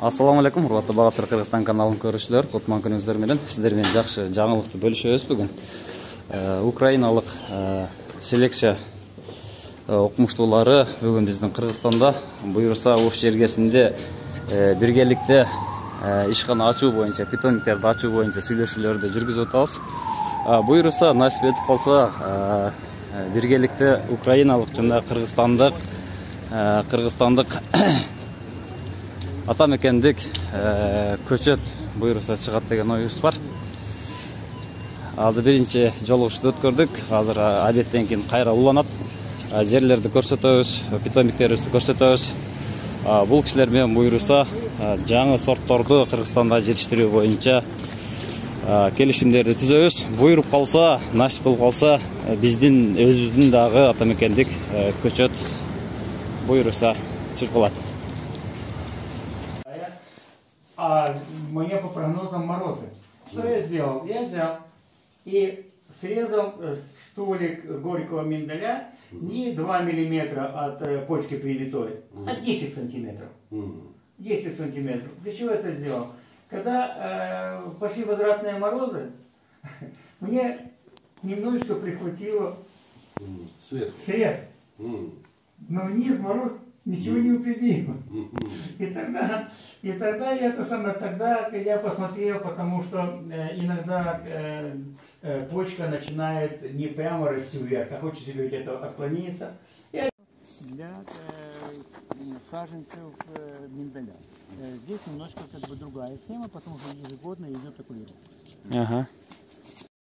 Ассаламу алейкум, урматтуу Багасыр Кыргызстан каналын көрүүчүлөр, кутман күнүңүздөр менен сиздер менен жакшы жаңылыкты бөлүшөбүз бүгүн. Украиналык селекция окумуштуулары бүгүн биздин Кыргызстанда буюрса уш жергесинде биргеликте ишкана ачуу боюнча, питомниктерди ачуу боюнча сүйлөшүүлөрдү жүргүзүп атабыз. Буюрса насип этип калса биргеликте украиналык жана кыргызстандык ата мекендик көчөт буюрса чыгат деген оюбуз бар. Азыр биринчи жолугушууну өткөрдүк. Азыр адеттен кийин кайра уланат. Жерлерди көрсөтөбүз, питомниктерибизди көрсөтөбүз. Бул кишилер менен буюрса жаңы сортторду Кыргызстанда жетиштирүү боюнча келишимдерди түзөбүз. Буйруп калса, насип кылып калса, биздин өзүбүздүн дагы ата мекендик көчөт буюрса чыгылат. А мне по прогнозам морозы. Что я сделал? Я взял и срезал столик горького миндаля не 2 миллиметра от почки привитой, а 10 сантиметров. 10 сантиметров. Для чего это сделал? Когда пошли возвратные морозы, мне немножечко прихватило срез. Но вниз мороз ничего не упредил. И тогда я посмотрел, потому что иногда почка начинает не прямо расти вверх, а хочет себе где-то отклониться. Для саженцев миндаля. Здесь немножко как бы другая схема, потому что ежегодно идет окулировка.